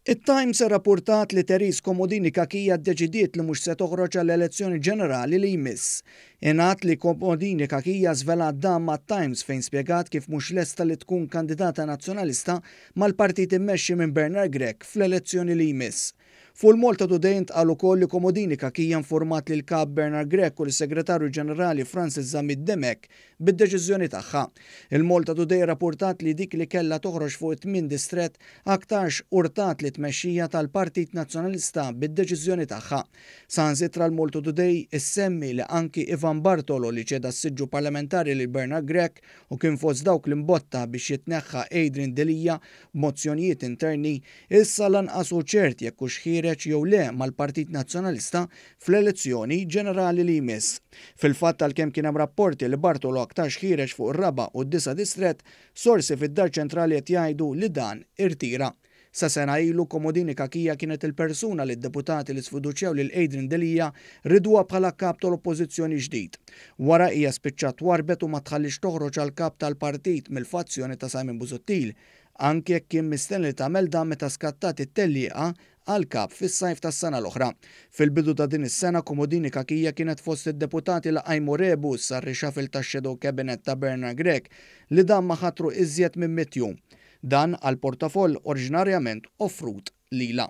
It-Times irrappurtat li Therese Comodini Cachia ddeċidiet li mhux se toħroġ għall-elezzjoni ġenerali li jmiss. Ingħad li Comodini Cachia żvelat dan mat-Times fejn spjegat kif mhux lesta li tkun kandidata Nazzjonalista mal-partit immexxi minn Bernard Grech fl-elezzjoni li jmiss. Fuq il-Malta Today intqal ukoll li Comodini Cachia informat lill-Kap Bernard Grech u lis-Segretarju Ġenerali Francis Zammit Dimech bid-deċiżjoni tagħha. Il-Malta Today rrappurtat li dik li kellha toħroġ fuq it-tmien distrett aktarx urtat lit-tmexxija tal-Partit Nazzjonalista bid-deċiżjoni tagħha. Saħansitra l-Malta Today issemmi li anki Ivan Bartolo li ċeda s-siġġu parlamentari lil Bernard Grech u kien fost dawk li mbotta biex jitneħħa Adrian Delia b'mozzjonijiet interni, issa lanqas hu ċert jekk hux ħiereġ jew le mal-Partit Nazzjonalista fl-elezzjoni ġenerali li jmiss. Fil-fatt għalkemm kien hemm rapporti li Bartolo aktarx ħiereġ fuq ir-raba' u d-disa' distrett, sorsi fid-Dar Ċentrali qed jgħidu li dan irtira. Sa sena ilu, Comodini Cachia kienet il-persuna li d-deputati li sfiduċjaw lil Adrian Delia riduha bħala kap tal-Oppożizzjoni ġdid. Wara hija spiċċat twarrbet u ma tħalliex toħroġ għal kap tal-partit mill-fazzjoni ta' Simon Busuttil, anki jekk kien mistenni li tagħmel dan meta skattat it-tellieqa għal kap fis-sajf tas-sena l-oħra. Fil-bidu ta' din is-sena, Comodini Cachia kienet fost id-deputati li qajmu rebus għar-reshuffle tax-shadow cabinet ta' Bernard Grech li dam ma ħatru iżjed minn mitt jum. Dan għal portafoll oriġinarjament offrut lilha.